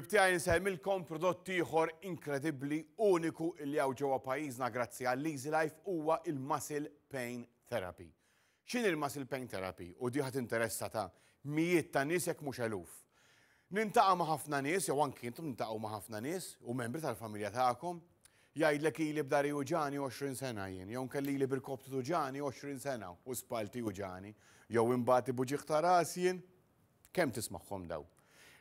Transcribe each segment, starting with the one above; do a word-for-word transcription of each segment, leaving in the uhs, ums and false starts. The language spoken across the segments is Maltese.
Ħbieb tiegħi, nsemmilkom prodott ieħor inkredibbli, uniku li hawn ġewwa pajjiżna grazzi għall Easy Life, huwa il-Muscle Pain Therapy. X'inhi il-Muscle Pain Therapy? U di ħa tinteressa ta' mijiet ta' nies, jekk mhux eluf. Niltaqa' ma' ħafna nies, jew anki intom tiltaqgħu ma' ħafna nies u membri tal-familja tagħkom, jgħidlek ili b'dahri juġgħani għoxrin sena jien, jew kelli ili b'irkoppti tuġgħani għoxrin sena u spallti juġgħani, jew inbati b'uġigħ ta' ras jien. Kemm tismagħhom daw?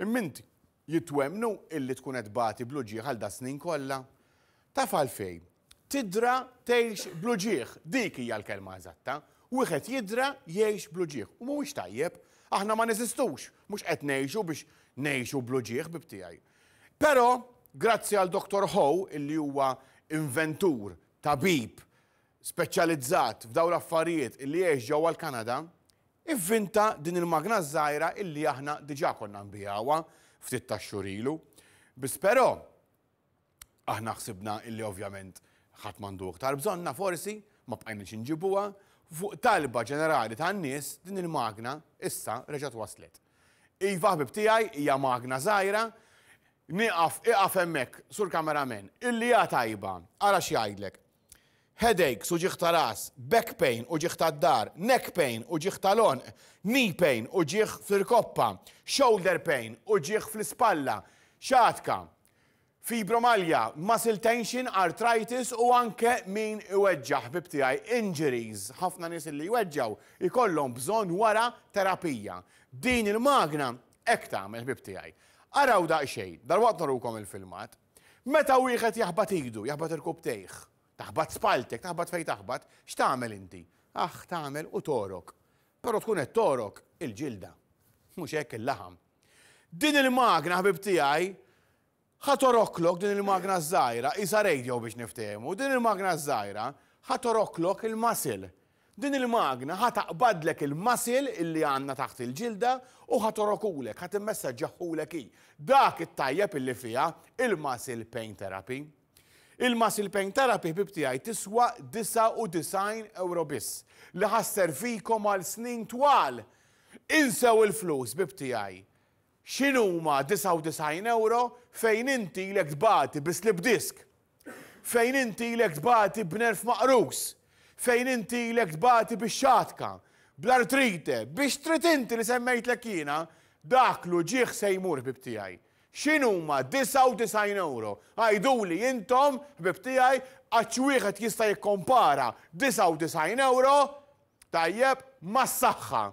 Imma inti jitwemnu illi tkun qed tbati bl-uġigħ għal das-snin kollha? Taf għalfejn? Tidra tgħix bl-uġigħ, dik hija l-kelma eżatta. Wieħed jidra jgħix bl-uġigħ. U mhuwiex tajjeb, aħna ma neżistux, mhux qed ngħixu biex ngħixu bl-uġigħ, ħbieb tiegħi. Però, grazzi għal Doktor Ho, illi huwa inventur, tabib, speċjalizzat f'dawn l-affarijiet, illi jgħix ġewwa l-Kanada, ivvinta din il-magna żgħira illi aħna diġà konna nbigħuha ftit ta' xhur ilu. Biss però aħna ħsibna illi ovvjament ħadd m'għandu iktar bżonna, forsi ma bqajniex inġibuha. Fuq talba ġenerali tan-nies, din il-magna issa reġgħet waslet. Iva, ħbib tiegħi, hija magna żgħira. Nieqaf, iqaf hemmhekk, sur cameraman, illi hija tajba, ara x'jgħidlek. Headache, uġigħ ta' ras, back pain, uġigħ ta' dahar, neck pain, uġigħ tal-għonq, knee pain, uġigħ fl-irkoppa, shoulder pain, uġigħ fl-ispalla, xatka, fibromalja, muscle tension, arthritis u anke min iweġġaħ, ħbib tiegħi, injuries, ħafna nies li jweġġaw ikollhom bżonn wara terapija. Din il-magna hekk tagħmel, ħbib tiegħi. Araw daqsxejn, dalwaqt nurukom il-filmat. Meta wieħed jaħbat idu, jaħbat irkopptejh, taħbat spaltek, taħbat fej taħbat, x'tagħmel inti? Aħ, tagħmel u torok. Però tkun qed torok il-ġilda, mhux hekk, il-laħam. Din il-magna, ħbib tiegħi, ħa toroklok din il-magna żgħira, isa radio biex niftehmu, din il-magna żgħira ħa toroklok il-muscle. Din il-magna ħa taqbadlek il-muscle illi għandna taħt il-ġilda u ħa torokulek, ħa timmessaġġaħulek hi. Dak it-tajjeb illi fiha il-Muscle Pain Therapy. Il-Muscle Pain Therapy, ħbib tiegħi, tiswa disgħa u disgħin euro biss li ħa sservikom għal snin twal. Insew il-flus, ħbieb tiegħi. X'inhuma disgħa u disgħin euro fejn inti ilek tbati bi slip disc? Fejn inti ilek tbati b'nerv maqrus? Fejn inti ilek tbati bix-xatka, bl-artrite, biex trid inti li semmejtlek jiena, dak l-uġigħ se jmur, ħbib tiegħi. X'inhuma disgħa u disgħin euro? Għiduli intom, ħbib tiegħi, għax wieħed jista' jikkompara disgħa u disgħin euro tajjeb mas-saħħa.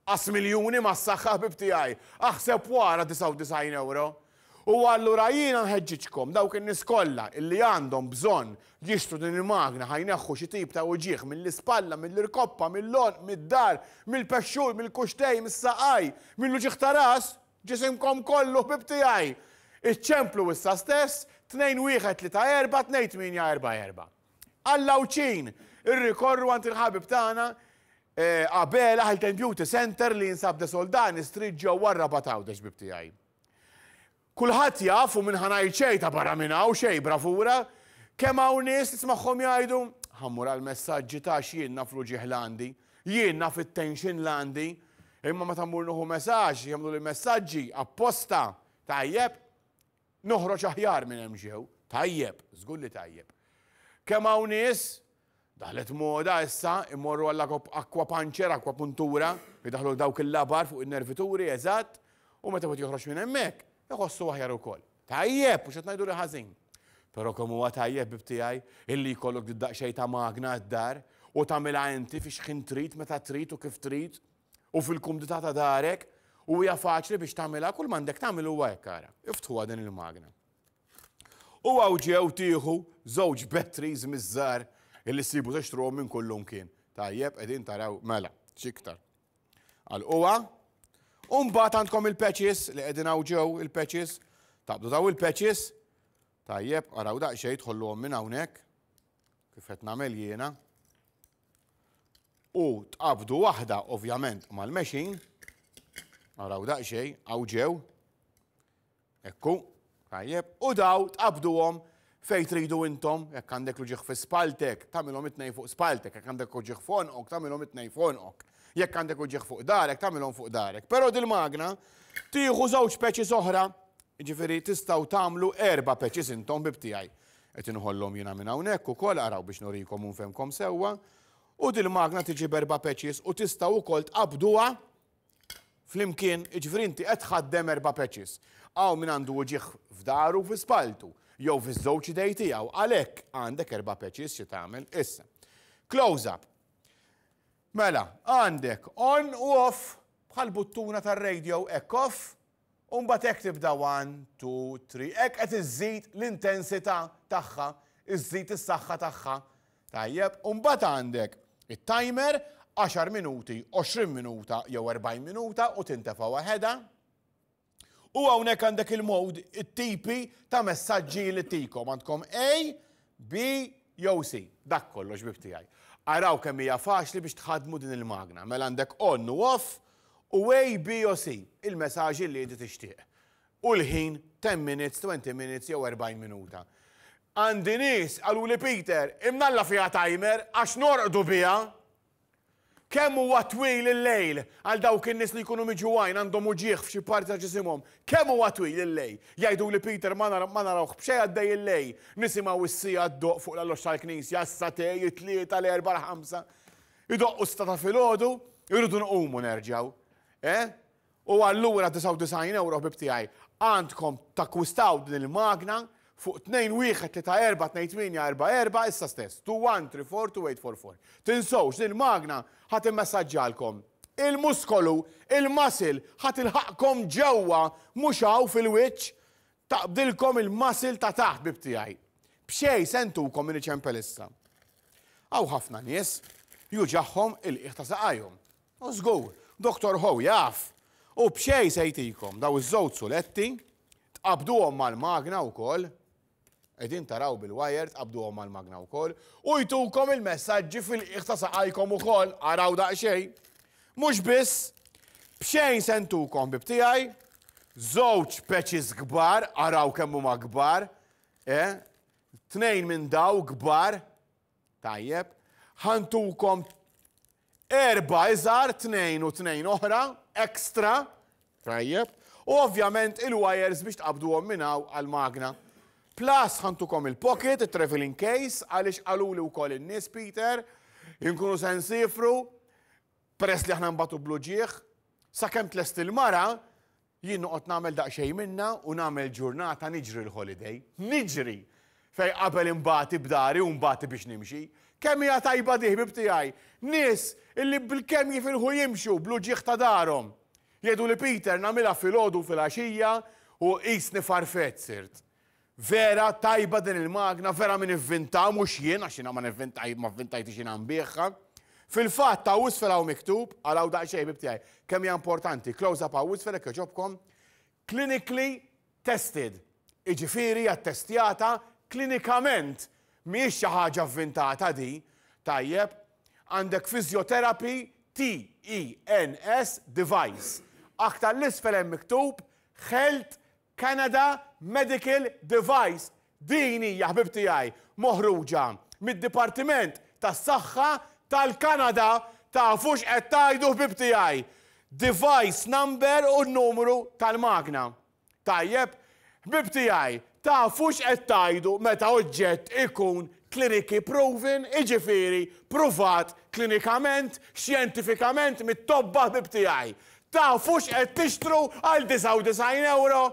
Qas miljuni mas-saħħa, ħbib tiegħi. Aħseb wara disgħa u disgħin euro. U allura jiena nħeġġiġkom, dawk in-nies kollha illi għandhom bżonn jixtru din il-magna ħa jneħħu xi tip ta' uġigħ mill-ispalla, mill-irkoppa, mill-għonq, mid-dahar, mill-pexxul, mill-kuxtej, mis-saqaj, mill-uġigħ ta' ras, ġisimkom kollu, ħbib tiegħi. Iċċemplu issa stess tnejn wieħed tlieta erba' tnejn tmienja erba' erba'. Għall-Għawdxin, irrikorru għand il-ħabib tagħna eh, Abela Health and Beauty Center li jinsab De Soldani Street ġewwa Rabat Għawdex, ħbib tiegħi. Kulħadd jaf u minn ħa ngħid xejn ta' barra minn hawn xejn bravura, kemm hawn nies tismagħhom jgħidu, "Ħa mmur għal-messaġġi ta' jien naf l-uġigħ l-għandi, jien naf it-tension l-għandi, imma meta mmur nieħu messaġġ, jagħmlu li messaġġi apposta, tajjeb, noħroġ aħjar minn hemm ġew, tajjeb, żgur li tajjeb." Kemm hawn nies daħlet moda issa imorru għall aquapuncture, aquapuntura, jidaħlu dawk il-labar fuq il-nervituri, eżatt, u meta wieħed joħroġ minn hemmhekk, iħossu aħjar ukoll. Tajjeb, u x'qed ngħidu li ħażin. Però kemm huwa tajjeb, ħbib tiegħi, illi jkollok daqsxejn ta' magna d-dar u tagħmilha inti fi x'ħin trid, meta trid u kif trid u fil-kumdità ta' darek, u hija faċli biex tagħmilha. Kull m'għandek tagħmel huwa hekk, ara. Iftħuha din il-magna. U hawn ġew tieħu żewġ batteries miż-żgħar illi ssibu tixtruhom minn kullum kien. Tajjeb, qegħdin taraw, mela, x'iktar. Għal U mbagħad għandkom il-patches li qegħdin hawn ġew il-patches. Taqbdu daw il-patches. Tajjeb, araw daqsxejn, tħolluhom minn hawnhekk. Kif qed nagħmel jiena. U tqabdu waħda ovvjament mal-machine. Araw daqsxejn, hawn ġew. Ekku, tajjeb. U daw tqabduhom fej tridu intom, jekk għandek l-uġigħ fi spaltek, tagħmilhom it-tnejn fuq spaltek, jekk għandek uġigħ f'għonqok, tagħmilhom it-tnejn f'għonqok. Jekk għandek uġigħ fuq dahrek, tagħmilhom fuq dahrek. Però dil-magna tieħu żewġ patches oħra. Jiġifieri tistgħu tagħmlu erba' patches intom, ħbieb tiegħi. Qed inħollhom jiena minn hawnhekk ukoll, araw biex nurikom u nfehmkom sewwa. U dil-magna tiġi b'erba' patches u tistgħu wkoll tqabduha flimkien, jiġifieri inti qed tħaddem erba' patches. Hawn min għandu uġigħ f'dahru, fi spalltu, jew fiż-żewġ idej tiegħu, għalhekk għandek erba' patches xi tagħmel issa. Close up. Mela, għandek on u off bħal buttuna tar-radio, hekk off, u mbagħad hekk tibda one, two, three, hekk qed iżżid l-intensità tagħha, iżżid is-saħħa tagħha. Tajjeb, u mbagħad għandek it-timer għaxar minuti, għoxrin minuta jew erbgħin minuta u tintefa' waħedha. U hawnhekk għandek il-mode, it-tipi ta' messaġġi li tikom. Għandkom A, B jew C. Dak kollox, ħbieb tiegħi. Araw kemm hija faċli biex tħadmu din il-magna. Mela għandek on u off u A, B u C, il-messaġġi li inti tixtieq. U l-ħin ten minutes, twenty minutes jew erbgħin minuta. Għandi nies qaluli, "Peter, imnalla fiha timer għax norqdu biha." Kemm huwa twil il-lejl għal dawk in-nies li jkunu miġugħin, għandhom uġigħ f'xi parti ta' ġisimhom. Kemm huwa twil il-lejl? Jgħidu li, "Peter, ma narawh b'xejn għaddej il-lejl." Nisimgħu is-siegħa ddoqq fuq l-alloġġ tal-knisja, s-sagħtejn, it-tlieta, l-erbgħa, l-ħamsa. Idoqqu sitta ta' filgħodu, irridu nqumu nerġgħu. Eh? U allura disgħa u disgħin euro, ħbieb tiegħi, għandkom takkwistaw din il-magna fuq tnejn wieħed tlieta erba' tnejn tmienja erba' erba' issa stess. two one three four two eight four four. Tinsewx, din il-magna ħa timmassagġjalkom il-muskolu, il-muscle, ħa tilħaqkom ġewwa, mhux hawn fil-wiċċ, taqbdilkom il-muscle ta' taħt, ħbieb tiegħi. B'xejn se ntukom minn iċempel issa. Hawn ħafna nies juġagħhom il-qiegħ ta' saqajhom. U żgur, Doktor Ho jaf. U b'xejn se jtikom daw iż-żewġ suletti, tqabduhom mal-magna wkoll, qegħdin taraw bil-wire, tqabduhom mal-magna wkoll, u jtukom il-messaġġi fil-qiegħ ta' saqajkom ukoll, araw daqsxejn. Mhux biss, b'xejn se ntukom, ħbieb tiegħi, żewġ patches kbar, araw kemm huma kbar, eh? Tnejn minn daw kbar, tajjeb, ħa ntukom erba' iżgħar, tnejn u tnejn oħra, extra, tajjeb, u ovvjament il-wires biex tqabduhom minn hawn għal-magna. Plus ħa ntukom il-pocket, il-traveling case, għaliex qaluli wkoll in-nies, "Peter, inkunu se nsifru, peress li aħna nbatu bl-uġigħ, sakemm tlest il-mara, jien noqgħod nagħmel daqsxejn minna u nagħmel ġurnata niġri l-holiday." Niġri! Fej qabel imbati b'dahri u mbati biex nimxi. Kemm hija tajba di, ħbieb tiegħi? Nies illi bil-kemm jifilħu jimxu bl-uġigħ ta' daharhom. Jgħidu li, "Peter, nagħmilha filgħodu, filgħaxija u qisni farfett sirt." Vera tajba din il-magna, vera min ivvinta, mhux jien, għax jiena ma nivvintaj, ma vvintajtix jiena nbigħha. Fil-fatt ta' isfel hawn miktub, araw daqsxejn, ħbieb tiegħi, kemm hija importanti, close up hawn isfel hekk jogħġobkom, clinically tested. Jiġifieri attestjata klinikament, mhijiex xi ħaġa vvintata di, tajjeb, għandek physiotherapy T E N S device. Aktar 'l isfel hemm miktub Health Canada Medical Device. Din hija, ħbieb tiegħi, moħruġa mid-Dipartiment tas-Saħħa tal-Kanada. Tafux qed tgħidu, ħbieb tiegħi. Device number u n-numru tal-magna. Tajjeb, ħbieb tiegħi, tafux qed tgħidu meta oġġett ikun clinically proven, jiġifieri pruvat klinikament, xjentifikament mit-tobba, ħbieb tiegħi. Tafux qed tixtru għal disgħa u disgħin euro?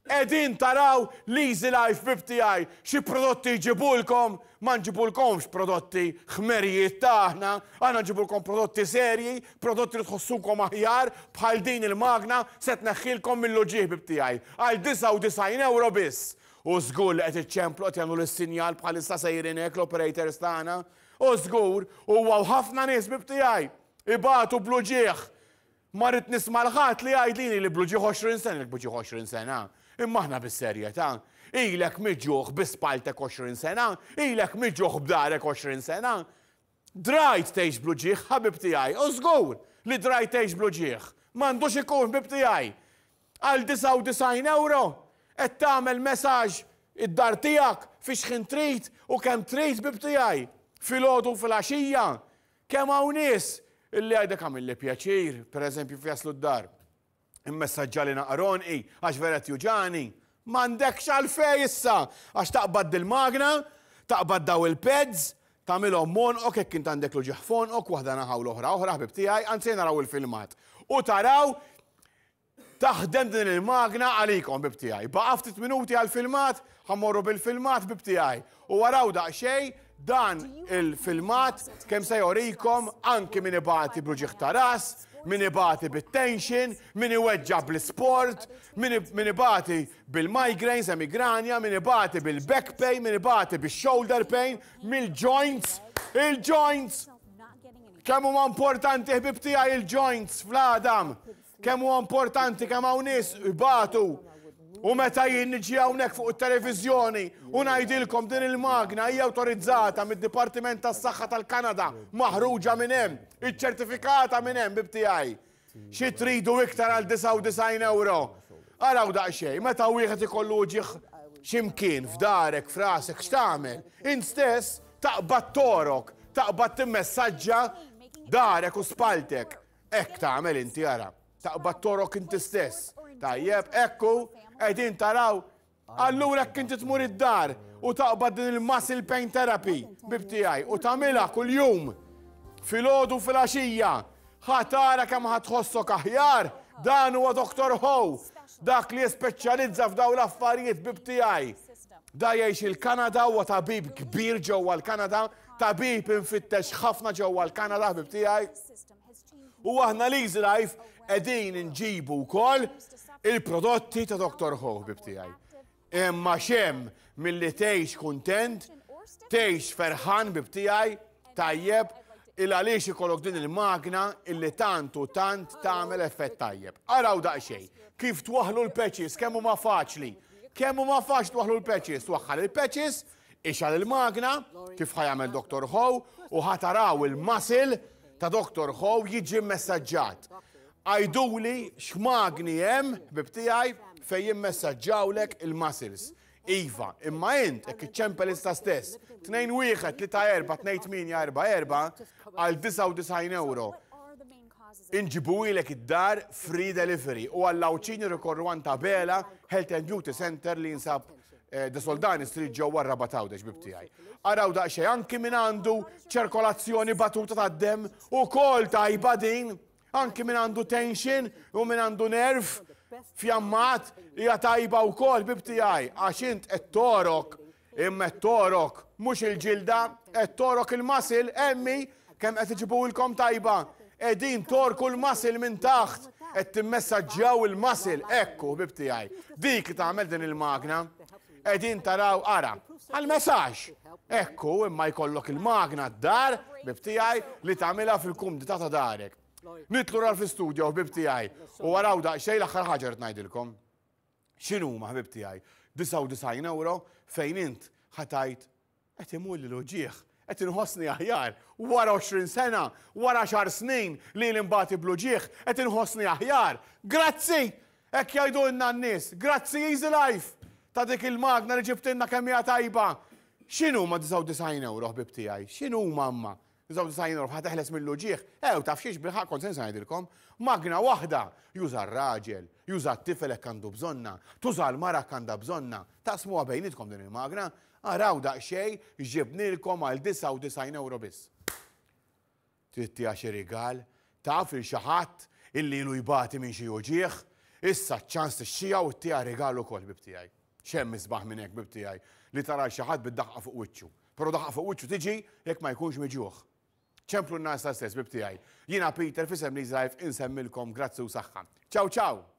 Qegħdin taraw l-Easy Life, ħbieb tiegħi, xi prodotti ġibulkom, ma nġibulkomx prodotti ħmerijiet taħna, aħna nġibulkom prodotti serji, prodotti li tħossukom aħjar, bħal din il-magna se tneħħilkom mill-uġigħ, ħbieb tiegħi, għal disgħa u disgħin euro biss. U żgur li qed iċċemplu, qed jagħmlu l-sinjal bħalissa sejrin hekk l-operators tagħna. U żgur, huwa ħafna nies, ħbieb tiegħi, ibatu bl-uġigħ. Ma rrid nisma' 'l ħadd li jgħidlini li bl-uġigħ għoxrin sena, bl-uġigħ għoxrin sena. Imma aħna bis-serjetà. Ilek miġugħ bi spalltek għoxrin sena, ilek miġugħ b'dahrek għoxrin sena. Drajt tgħix bl-uġigħ, ħabib tiegħi, u żgur li drajt tgħix bl-uġigħ. M'għandux ikun, ħbib tiegħi. Għal disgħa u disgħin euro qed tagħmel messaġġ id-dar tiegħek fi xħin trid u kemm trid, ħbieb tiegħi. Filgħodu, filgħaxija. Kemm hawn nies illi għajdek għamilli pjaċir, per eżempju, jaslu d-dar. Immessaġġali naqra għonqi, għax vera juġgħani. M'għandekx għalfejn issa, għax taqbad dil-magna, taqbad daw il-pads, tagħmilhom m'għonqok jekk int għandek l-uġigħ f'għonqok, waħda naħa u l-oħra oħra, ħbib tiegħi, anzi naraw il-filmat. U taraw taħdem din il-magna għalikom, ħbieb tiegħi. Baqa' ftit minuti għal-filmat, ħa mmorru bil-filmat, ħbieb tiegħi. U araw daqsxejn dan il-filmat kemm se jorikom anki min ibati bl-uġigħ ta' ras, min ibati bit-tension, min iweġġa bl-sport, min ibati bil-migraines, emigranja, min ibati bil-back pain, min ibati bil-shoulder pain, mill-joints, il-joints. Kemm huma importanti, ħbib tiegħi, il-joints fl-għadam. Kemm huwa importanti, kemm hawn nies ibatu. U meta jien niġi hawnhekk fuq it-televiżjoni u ngħidilkom din il-magna hija awtorizzata mid-Dipartiment tas-Saħħa tal-Kanada, maħruġa minn hemm, iċċertifikata minn hemm, ħbieb tiegħi. Xi tridu iktar għal disgħa u disgħin euro? Araw daqsxejn, meta wieħed ikollu uġigħ x'imkien f'darek, f'rasek, x'tagħmel? Int stess taqbad torok, taqbad timmessaġġa darek u spaltek. Hekk tagħmel inti, ara. Taqbad torok inti stess. Tajjeb, ekku, qegħdin taraw. Allura jekk inti tmur id-dar u taqbad din il-muscle pain therapy, ħbieb tiegħi, u tagħmilha kuljum filgħodu, filgħaxija, ħa tara kemm ħa tħossok aħjar. Dan huwa Doctor Ho, dak li jispeċjalizza f'daw l-affarijiet, ħbieb tiegħi. Da jgħix il-Kanada, huwa tabib kbir ġewwa l-Kanada, tabib infittex ħafna ġewwa l-Kanada, ħbieb tiegħi. U aħna l-Easy Life qegħdin nġibu wkoll il-prodotti ta' Doctor Ho, ħbieb tiegħi. Imma x'hemm milli tgħix kuntent, tgħix ferħan, ħbieb tiegħi, tajjeb, il għaliex ikollok din il-magna illi tant u tant tagħmel effett tajjeb. Araw daqsxejn, kif twaħlu l-patches, kemm huma faċli. Kemm huma faċli twaħlu l-patches, twaħħal il-patches, ixgħel il-magna, kif ħa jagħmel Doctor Ho, u ħa taraw il-muscle ta' Doctor Ho jiġi messaġġat. Għiduli x'magni hemm, ħbieb tiegħi, fejn jimmessaġġawlek il-muscles. Iva, imma int, jekk iċċempel issa stess, tnejn wieħed tlieta erba' tnejn tmienja erba' erba' għal disgħa u disgħin euro. Inġibuhielek id-dar, free delivery, u għall-Għawdxin rikorru għand Abela Health and Beauty Center li jinsab eh, De Soldani Street ġewwa Rabat Għawdex, ħbieb tiegħi. Araw daqsxejn, anki min għandu ċirkolazzjoni batuta tad-dem ukoll tajba din, anki min għandu tension u min għandu nerv fjammat hija tajba wkoll, ħbieb tiegħi, għax int qed torok, imma qed torok mhux il-ġilda, qed torok il-muscle, emmi kemm qed iġibuhilkom tajba. Qegħdin torku l-muscle minn taħt, qed timmessaġġjaw il-muscle, ekku, ħbieb tiegħi. Dik li tagħmel din il-magna, qegħdin taraw, ara, għal-messaġġ. Ekku, imma jkollok il-magna d-dar, ħbieb tiegħi, li tagħmilha fil-kumdità ta' darek. Nitilgħu lura fl-studio, ħbieb tiegħi, u araw daqsxejn l-aħħar ħaġa rrid ngħidilkom. X'inhuma, ħbieb tiegħi? disgħa u disgħin euro fejn int ħa tgħid qed imur l-uġigħ, qed inħossni aħjar wara għoxrin sena, wara għaxar snin li nbati bl-uġigħ, qed inħossni aħjar. Grazzi! Hekk jgħidulna n-nies, grazzi Easy Life ta' dik il-magna li ġibtilna, kemm hija tajba. X'inhuma disgħa u disgħin euro, ħbieb tiegħi? X'inhuma amma? disgħa u disgħin euro ħa teħles mill-uġigħ. Ew, taf xiex, bil-ħaqq kont se ngħidilkom. Magna waħda juża r-raġel, juża t-tifel hekk għandu bżonna, tuża l-mara għandha bżonna. Taqsmuha bejnietkom din il-magna, araw daqsxejn ġibnilkom għal disgħa u disgħin euro biss. Trid xi rigal, taf lil xi ħadd illi ilu jbati minn xi uġigħ, issa ċans tixtriha u ttiha rigal ukoll, ħbieb tiegħi. X'hemm isbaħ minn hekk, ħbieb tiegħi, li tara xi ħadd bid-daħqa fuq wiċċu? Però daħqa fuq wiċċu tiġi jekk ma jkunx miġuħ. Ċemplulna issa stess, ħbieb tiegħi. Jiena Peter f'isem Life insellmilkom, grazzi u saħħa. Ciao ciao!